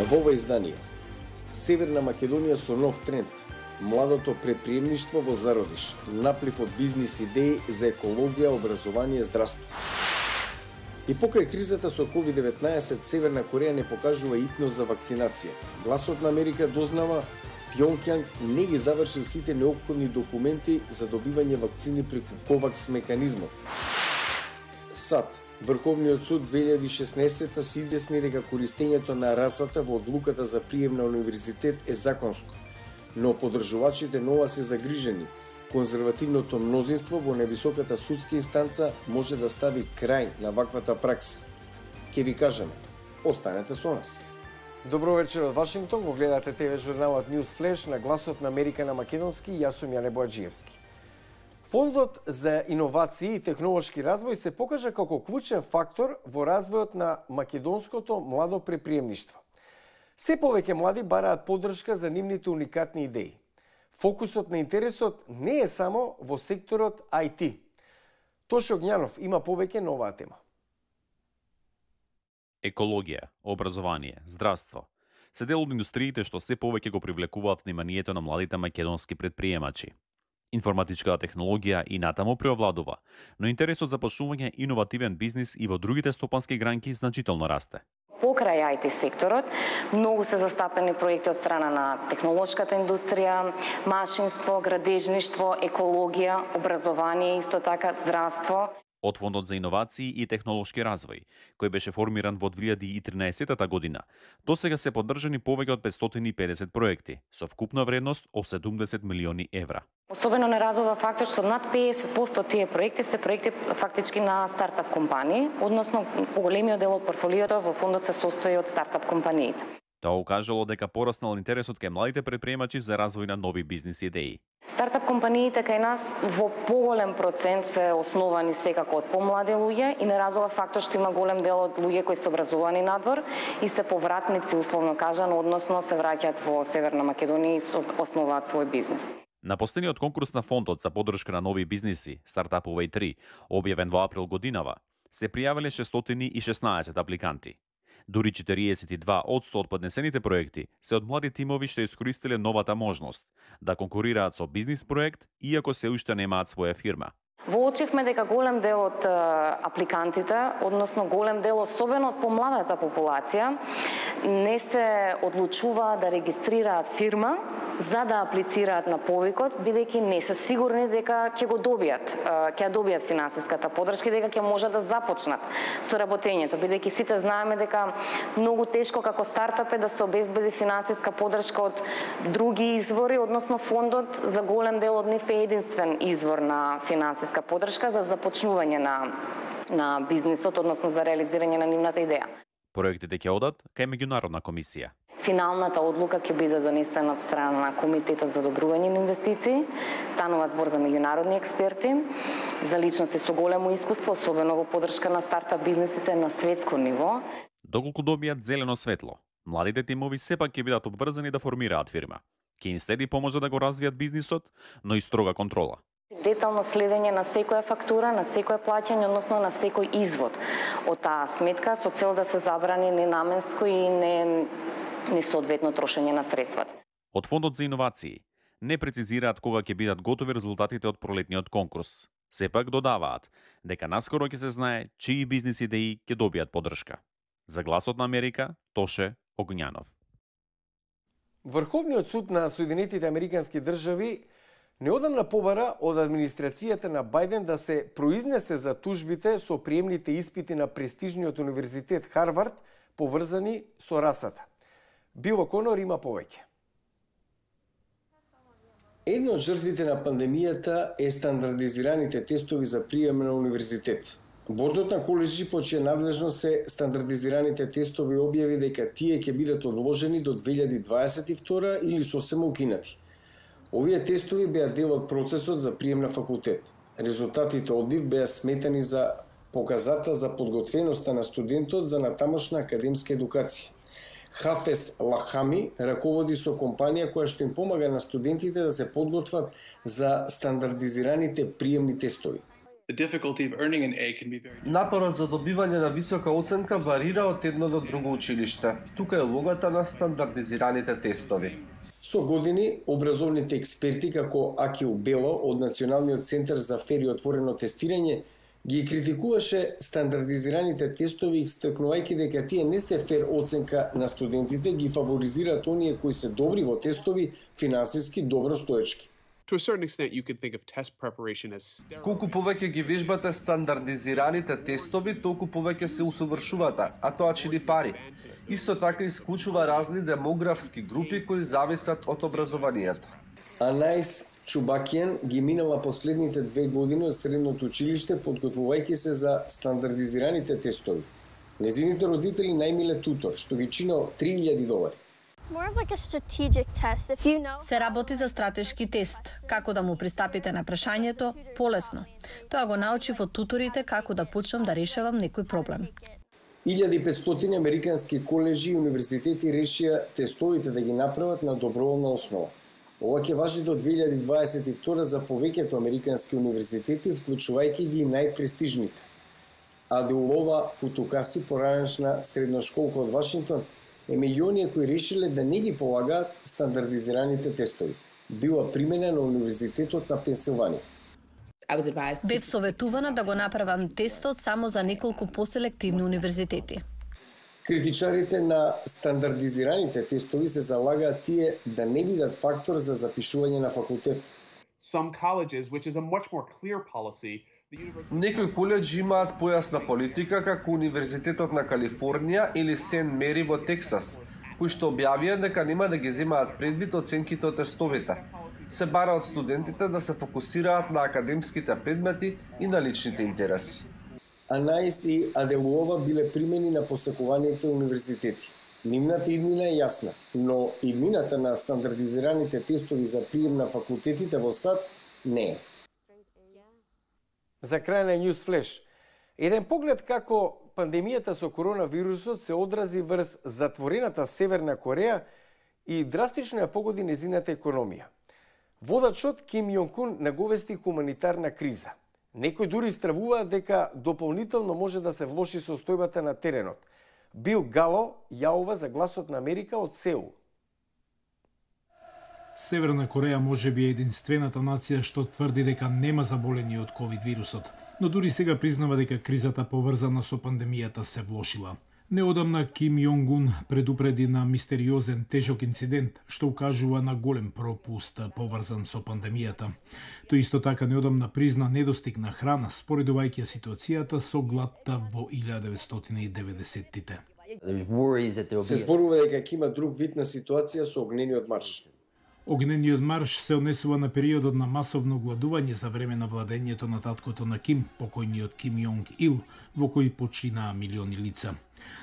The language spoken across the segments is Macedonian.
Во ова издание, Северна Македонија со нов тренд, младото предприемништво во зародиш, наплив од бизнис идеи за екологија, образование, здравство. И покрај кризата со COVID-19, Северна Кореја не покажува итност за вакцинација. Гласот на Америка дознава Пјонкјанг не ги завршил сите неопходни документи за добивање вакцини преку ковакс механизмот. САД, Врховниот суд 2016 се изјасни дека користењето на расата во одлуката за прием на универзитет е законско, но поддржувачите нова се загрижени. Конзервативното мнозинство во највисоката судска инстанца може да стави крај на ваквата пракса. Ке ви кажеме, останете со нас. Добро вечер од Вашингтон, го гледате ТВ журналот News Flash на Гласот на Америка на македонски, јас сум Јане Боаџиевски. Фондот за иновации и технолошки развој се покажа како клучен фактор во развојот на македонското младо предприемништво. Се повеќе млади бараат поддршка за нивните уникатни идеи. Фокусот на интересот не е само во секторот IT. Тоше Огњанов има повеќе на оваа тема. Екологија, образование, здравство се дел од индустриите што се повеќе го привлекуваат вниманието на младите македонски предприемачи. Информатичката технологија и натаму преовладува, но интересот за почнување иновативен бизнис и во другите стопански гранки значително расте. Покрај IT секторот, многу се застапени проекти од страна на технолошката индустрија, машинство, градежништво, екологија, образование, исто така здравство. Од Фондот за иновации и технолошки развој, кој беше формиран во 2013 година, досега се поддржани повеќе од 550 проекти, со вкупна вредност од 70 милиони евра. Особено не радува фактот што над 50% од тие проекти се проекти фактички на стартап компании, односно поголемиот дел од портфолиото во фондот се состои од стартап компаниите. Тоа укажало дека пораснал интересот кај младите предприемачи за развој на нови бизнис идеи. Стартап компаниите кај нас во поголем процент се основани секако од помлади луѓе и не радува фактот што има голем дел од луѓе кои се образовани надвор и се повратници, условно кажано, односно се враќаат во Северна Македонија и основаат свој бизнис. На последниот конкурс на Фондот за поддршка на нови бизниси, Стартапувај 3, објавен во април годинава, се пријавиле 616 апликанти. Дури 42% од поднесените проекти се од млади тимови што искористиле новата можност да конкурираат со бизнис проект, иако се уште немаат своја фирма. Воочивме дека голем дел од апликантите, односно голем дел особено од помладата популација, не се одлучуваат да регистрираат фирма за да аплицираат на повикот, бидејќи не се сигурни дека ќе го добијат, ќе добијат финансиската поддршка и дека ќе можат да започнат со работењето, бидејќи сите знаеме дека многу тешко како стартап е да се обезбеди финансиска поддршка од други извори, односно фондот за голем дел од нив е единствен извор на финансиска поддршка за започнување на бизнисот, односно за реализирање на нивната идеја. Проектите ќе одат кај меѓународна комисија. Финалната одлука ќе биде донесена од страна на Комитетот за одобрување на инвестиции. Станува збор за меѓународни експерти, за личности со големо искуство, особено во поддршка на стартап бизнисите на светско ниво. Доколку добијат зелено светло, младите тимови сепак ќе бидат обврзани да формираат фирма. Ќе им следи помош да го развијат бизнисот, но и строга контрола. Детално следење на секоја фактура, на секој плаќање, односно на секој извод од таа сметка со цел да се забрани ненаменско и несоодветно трошење на средствата. Од Фондот за иновации не прецизираат кога ќе бидат готови резултатите од пролетниот конкурс. Сепак додаваат дека наскоро ќе се знае чии бизнис идеи ќе добијат поддршка. За Гласот на Америка, Тоше Огњанов. Врховниот суд на Соединетите Американски држави неодамна побара од администрацијата на Бајден да се произнесе за тужбите со приемните испити на престижниот универзитет Харвард поврзани со расата. Било Конор има повеќе. Една од жртвите на пандемијата е стандардизираните тестови за прием на универзитет. Бордот на коледжи по чија надлежност се стандардизираните тестови објави дека тие ќе бидат одложени до 2022 или сосема укинати. Овие тестови беа дел од процесот за прием на факултет. Резултатите од нив беа сметани за показател за подготвеноста на студентот за натамошна академска едукација. Хафес Лахами раководи со компанија која што им помага на студентите да се подготват за стандардизираните приемни тестови. Напорот за добивање на висока оценка варира од едно до друго училиште. Тука е логата на стандардизираните тестови. Со години, образовните експерти како Акил Бело од Националниот центар за фер и отворено тестирање ги критикуваше стандардизираните тестови, истакнувајќи дека тие не се фер оценка на студентите, ги фаворизираат оние кои се добри во тестови, финансиски добро стоечки. Колку повеќе ги вежбате стандардизираните тестови, толку повеќе се усовршувате, а тоа чини пари. Исто така исклучува разни демографски групи кои зависат од образованието. Анаис Чубакијан ги минала последните 2 години од средното училиште подготвувајќи се за стандардизираните тестови. Незините родители најмиле тутор, што ги чинал $3,000. Се работи за стратешки тест, како да му пристапите на прашањето полесно. Тоа го научив од туторите како да почнам да решавам некој проблем. 1500 американски коледжи и универзитети решија тестовите да ги направат на доброволна основа. Ова ќе важи до 2022 за повеќето американски универзитети, вклучувајќи ги најпрестижните. Адеулова Футукаси, поранешна средношколка од Вашингтон, е меѓу оние кои решиле да не ги полагаат стандардизираните тестови. Била примена на Универзитетот на Пенсилванија. Бев советувана да го направам тестот само за неколку поселективни универзитети. Критичарите на стандардизираните тестови се залагаат тие да не бидат фактор за запишување на факултет. Некои коледжи имаат појасна политика како Универзитетот на Калифорнија или Сент Мери во Тексас, кои што објавија дека нема да ги земаат предвид оценките од тестовите. Се бара од студентите да се фокусираат на академските предмети и на личните интереси. Анаис и Аделуова биле примени на посекуваните универзитети. Нивната иднина е јасна, но иднината на стандардизираните тестови за прием на факултетите во САД не е. За крај на News Flash, еден поглед како пандемијата со коронавирусот се одрази врз затворената Северна Кореја и драстично ја погоди незината економија. Водачот Ким Јонг Ун наговести хуманитарна криза. Некои дури стравуваат дека дополнително може да се влоши состојбата на теренот. Бил Гало јаува за Гласот на Америка од Сеул. Северна Кореја може би е единствената нација што тврди дека нема заболени од ковид вирусот, но дури сега признава дека кризата поврзана со пандемијата се влошила. Неодамна Ким Јонг Ун предупреди на мистериозен тежок инцидент што укажува на голем пропуст поврзан со пандемијата. Тој исто така неодамна призна недостиг на храна споредувајќи ситуацијата со гладта во 1990-тите. Се зборува дека ќе има друг вид на ситуација со огнениот марш. Огнениот марш се однесува на периодот на масовно гладување за време на владењето на таткото на Ким, покојниот Ким Јонг Ил, во кој починаа милиони лица.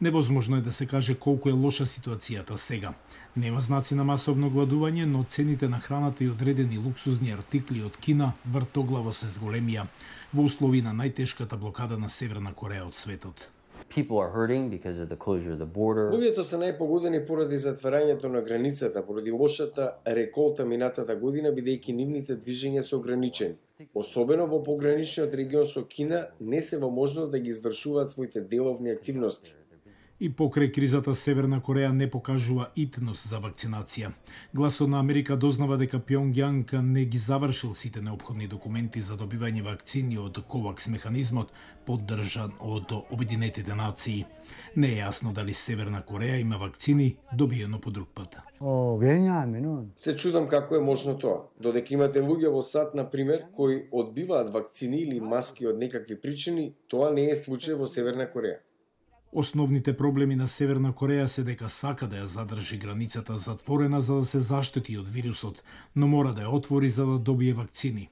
Невозможно е да се каже колку е лоша ситуацијата сега. Нема знаци на масовно гладување, но цените на храната и одредени луксузни артикли од Кина вртоглаво се зголемија во услови на најтешката блокада на Северна Кореја од светот. Луѓето се најпогодени поради затварањето на границата, поради лошата реколта минатата година, бидејќи нивните движења се ограничени. Особено во пограничниот регион со Кина не се во можност да ги извршуваат своите деловни активности. И покрај кризата Северна Кореја не покажува итност за вакцинација. Гласот на Америка дознава дека Пјонгјанг не ги завршил сите неопходни документи за добивање вакцини од КОВАКС механизмот, поддржан од Обединетите нации. Не е јасно дали Северна Кореја има вакцини добиено по друг пат. Се чудам како е можно тоа. Додека имате луѓе во САД, например, кои одбиваат вакцини или маски од некакви причини, тоа не е случај во Северна Кореја. Основните проблеми на Северна Кореја се дека сака да ја задржи границата затворена за да се заштити од вирусот, но мора да ја отвори за да добие вакцини.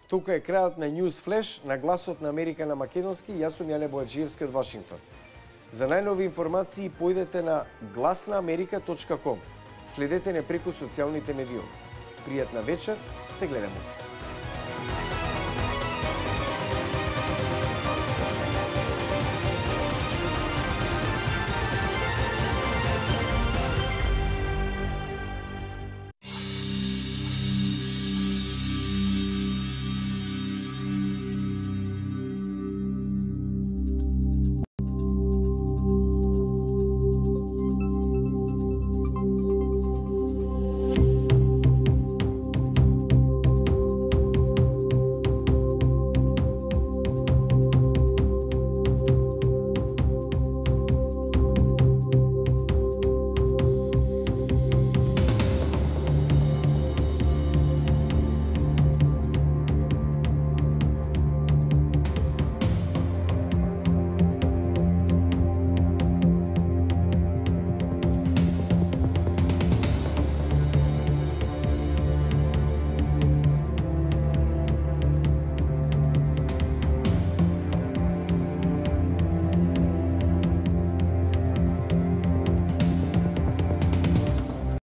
Тука е крајот на News Flash на Гласот на Америка на македонски. Јас сум Јане Бојаджиевски од Вашингтон. За најнови информации појдете на glasnaamerika.com. Следете не преку социјалните медиуми. Пријатна вечер, се гледаме.